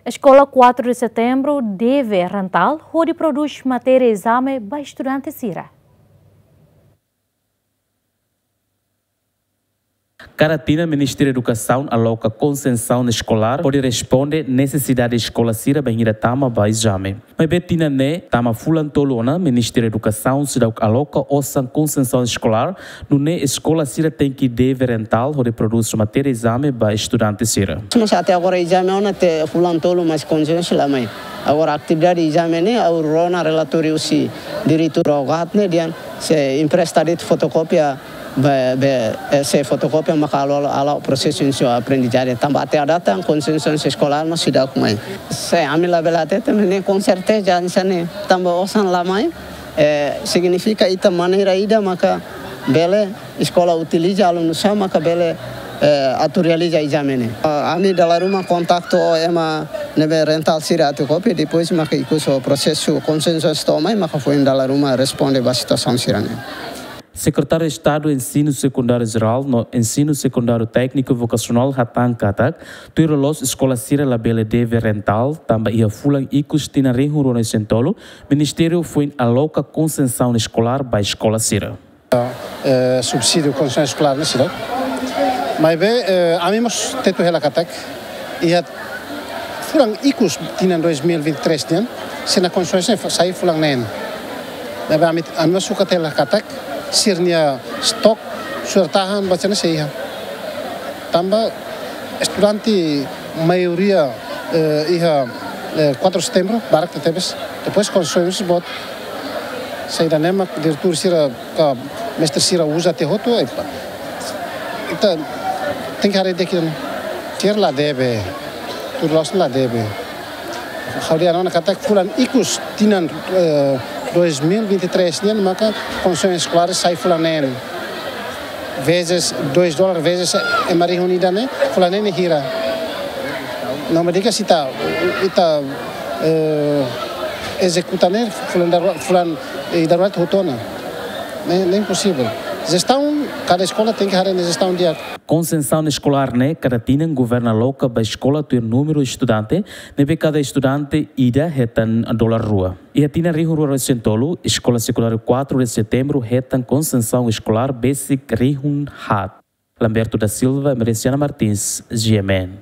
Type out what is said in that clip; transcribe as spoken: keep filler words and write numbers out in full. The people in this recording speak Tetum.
Eskola Quatro de Setembro deve rental hodi prodús matéria ezame ba estudante sira. Kada tinan Ministériu Edukasaun aloka konsensaun eskolár hodi responde nesesidade eskola sira bainhira tama ba ezame. Maibé tinan ne'e tama fulan tolu ona Ministériu Edukasaun seidauk aloka osan konsensaun eskolár, nune'e eskola sira tenke deve rental hodi prodús matéria ezame ba estudante sira. Mas até agora ezame ona te fulan tolu mas konsensaun la mai. Agora atividade ezame ne'e ha'u rona relatóriu husi diretór OGAT ne'e dehan sei empresta de'it fotokópia be, be, eh, sei fotokópia maka halo, halo, halo prosesu inísiu aprendizajen tanba até à data konsensaun eskolár no seidauk mai. Se ami labele hatete, ne'e konserteza hanesan ne'e tanba osan la mai, eh, signifika ita maneira ida maka bele eskola utiliza alunu sira maka bele, eh, atu realiza ezame ne'e. Ah, ami dala ruma kontaktu ho ema ne'ebé rental sira atu kopia, depois maka ikus ho prosesu konsensaun to'o mai maka foin dala ruma responde ba situasaun sira ne'e. Sekretáriu Estadu Ensinu Sekundáriu Jerál no Ensinu Sekundáriu Tékniku Vokasionál hatán katak, tuir loloos eskola sira labele deve rental, tanba iha fulan ikus tinan rihun rua-nulu-resin-tolu, Ministériu foin aloka konsensaun eskolár ba eskola sira. Eh, subsídiu konsensaun eskolár ne'e seidauk. Maibé, eh, ami mós tetu hela katak, iha fulan ikus tinan dois mil e vinte e três nian, sira-nia konsensaun sai fulan neen. Maibé ami, ami mós sukat hela katak, sira-nia stok, sira tahan, ba sira-nia sei iha. Tanba estudante maioria, eh, iha, eh, Quatro de Setembro, barak tebes. Depois konsensaun boot, saida ne'e mak diretór sira ka mestre sira uza tiha hotu, eh, ita tenke haree di'ak ida-ne'e. Sira la deve, tuir loloos la deve. Ha'u dehan ona katak fulan ikus tinan, eh, dois mil e vinte e três nian maka konsensaun eskolár sai fulan neen. Vezes dois dólar, vezes ema rihun ida ne'e, fulan neen ne'e hira. No me diga se ita, ita, eh, ezekuta ne'e, fulan daru-, fulan, eh, darurat hotu ona. Ne'e, ne'e imposivel. Jestaun, kada eskola tenke haree nia jestaun di'ak. Konsensaun eskolár ne'e kada tinan governu aloka ba eskola tuir númeru estudante, ne'ebé kada estudante ida hetan dolar rua. Iha tinan rihun rua-nulu-resin-tolu, Eskola Sekundáriu Quatro de Setembro hetan konsensaun eskolár besik rihun haat. Lamberto da Silva, Emerenciana Martins, G M N.